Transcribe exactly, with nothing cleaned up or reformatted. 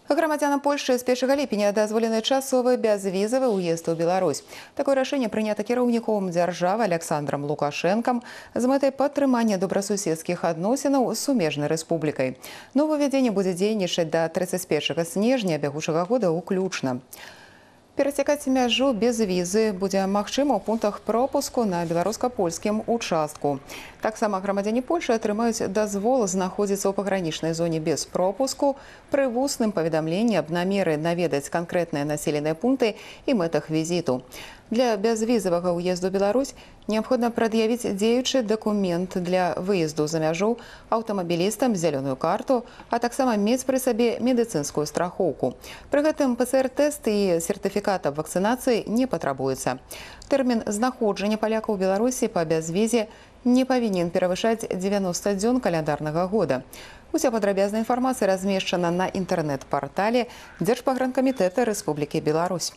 Грамадзянам Польшчы з першага ліпеня дазволены часовы бязвізавы ўезд у Беларусь. Такое рашэнне прынята кіраўніком дзяржавы Александром Лукашэнкам з мэтай падтрымання добрасуседскіх адносінаў з сумежнай рэспублікай. Новаўвядзенне будзе дзейнічаць да трыццаць першага снежня бягучага года ўключна. Перасякаць мяжу без візы будзе магчыма ў пунктах пропуску на беларуска-польскім участку. Таксама грамадзяне Польшы атрымаюць дазвол знаходзіцца ў пагранічнай зоне без пропуску пры вусным паведамленні аб намеры наведаць канкрэтныя населеныя пункты і мэтах візіту. Для бязвізавага ўезду ў Беларусь неабходна прад'явіць дзеючы дакумент для выезду за мяжу, аўтамабілістам зялёную карту, а таксама мець пры сабе медыцынскую страхоўку. Пры гэтым пэ цэ эр-тэст і сертыфікат аб вакцынацыі не патрабуецца. Тэрмін знаходжання палякаў у Беларусі па бязвізе не павінен перавышаць дзевяноста дзён каляндарнага года. Уся падрабязная інфармацыя размешчана на інтэрнэт-партале Дзяржпагранкамітэта Рэспублікі Беларусь.